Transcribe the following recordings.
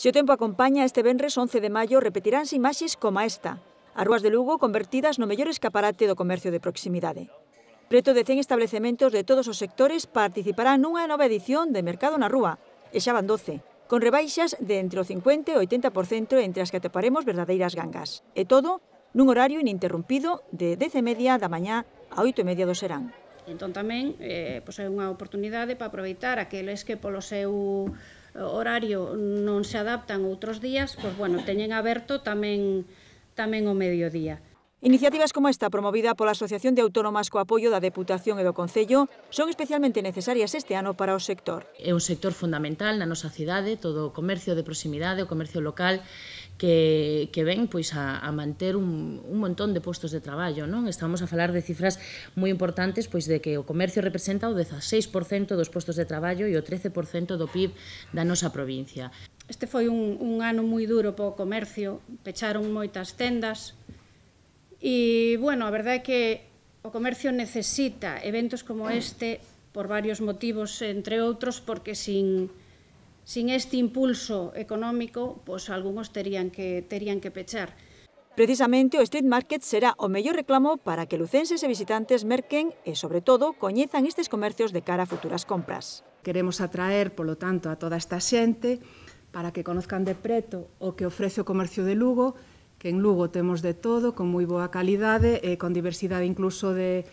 Se o tempo acompaña, este venres 11 de maio repetiránse imaxes como esta. As rúas de Lugo convertidas no mellor escaparate do comercio de proximidade. Preto de 100 establecementos de todos os sectores participarán nunha nova edición de Mercado na Rúa, e xa van 12, con rebaixas de entre o 50 e o 80% entre as que atoparemos verdadeiras gangas. E todo nun horario ininterrumpido de 10:30 da mañá a 8:30 do serán. Entón tamén é unha oportunidade para aproveitar aqueles que polo seu horario non se adaptan outros días, teñen aberto tamén o mediodía. Iniciativas como esta, promovida pola Asociación de Autónomas co apoio da Deputación e do Concello, son especialmente necesarias este ano para o sector. É un sector fundamental na nosa cidade, todo o comercio de proximidade, o comercio local, que ven a manter un montón de postos de traballo. Estamos a falar de cifras moi importantes, de que o comercio representa o 16% dos postos de traballo e o 13% do PIB da nosa provincia. Este foi un ano moi duro para o comercio, pecharon moitas tendas e, a verdade é que o comercio necesita eventos como este por varios motivos, entre outros, porque sin este impulso económico, algúns terían que pechar. Precisamente o Street Market será o mellor reclamo para que lucenses e visitantes merquen e, sobre todo, coñezan estes comercios de cara a futuras compras. Queremos atraer, polo tanto, a toda esta xente para que conozcan de preto o que ofrece o comercio de Lugo, que en Lugo temos de todo, con moi boa calidade e con diversidade incluso de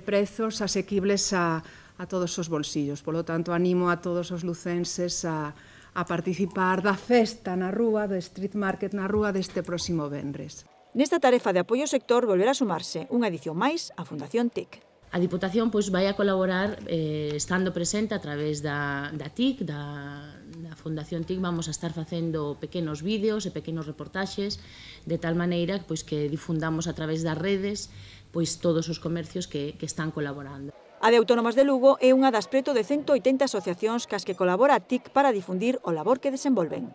prezos asequibles a todos os bolsillos. Polo tanto, animo a todos os lucenses a participar da festa na rúa, do Street Market na rúa deste próximo venres. Nesta tarefa de apoio ao sector volverá a sumarse unha edición máis a Fundación TIC. A Diputación vai a colaborar estando presente a través da TIC, da Fundación TIC. Vamos a estar facendo pequenos vídeos e pequenos reportaxes de tal maneira que difundamos a través das redes todos os comercios que están colaborando. A de Autónomas de Lugo é unha das preto de 180 asociacións cas que colabora a TIC para difundir o labor que desenvolven.